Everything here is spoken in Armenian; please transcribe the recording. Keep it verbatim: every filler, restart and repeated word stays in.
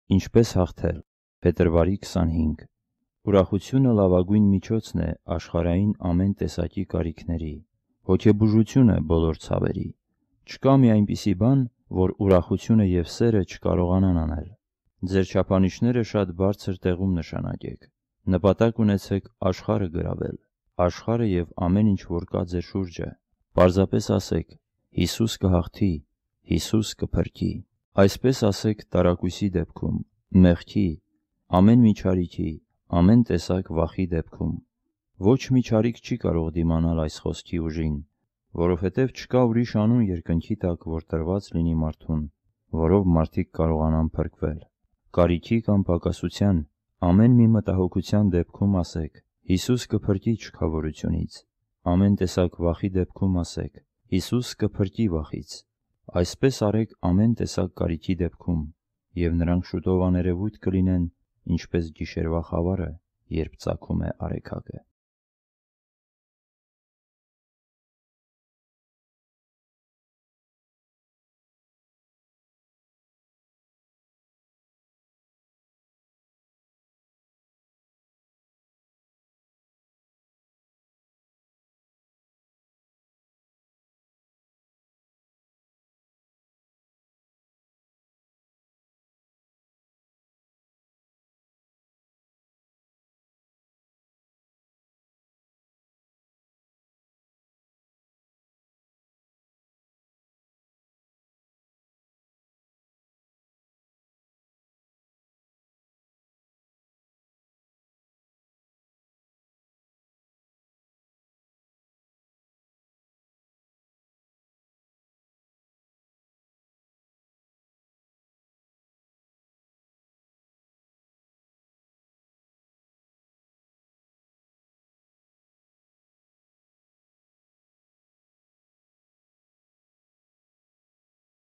Ինչպես հաղթել։ Փետրվարի քսանհինգ Ուրախությունը լավագույն միջոցն է աշխարհային ամեն տեսակի կարիքների, հոգեբուժությունը բոլոր ցավերի։ Չկա մի այնպիսի բան, որ ուրախությունը և սերը չկարողանան անել։ Ձեր չափանիշները շատ բարձր տեղում նշանակեք։ Նպատակ ունեցեք աշխարհը գրավել, աշխարհը և ամեն ինչ, որ կա ձեր շուրջը։ Պարզապես ասեք. Հիսուս կհաղթի, Հիսուս կփրկի։ Այսպես ասեք տարակույսի դեպքում, մեղքի, ամեն մի չարիքի, ամեն տեսակ վախի դեպքում։ Ոչ մի չարիք չի կարող դիմանալ այս խոսքի ուժին, որովհետև չկա ուրիշ անուն երկնքի տակ, որ տրված լինի մարդուն, որով մարդիկ կարողանան փրկվել։ Կարիքի կամ պակասության, ամեն մի մտահոգության դեպքում ասեք. Հիսուս կփրկի չքավորությունից։ Ամեն տեսակ վախի դեպքում ասեք. Հիսուս կփրկի վախից։ Այսպես արեք ամեն տեսակ կարիքի դեպքում, և նրանք շուտով աներևույթ կլինեն, ինչպես գիշերվա խավարը, երբ ծագում է արեգակը։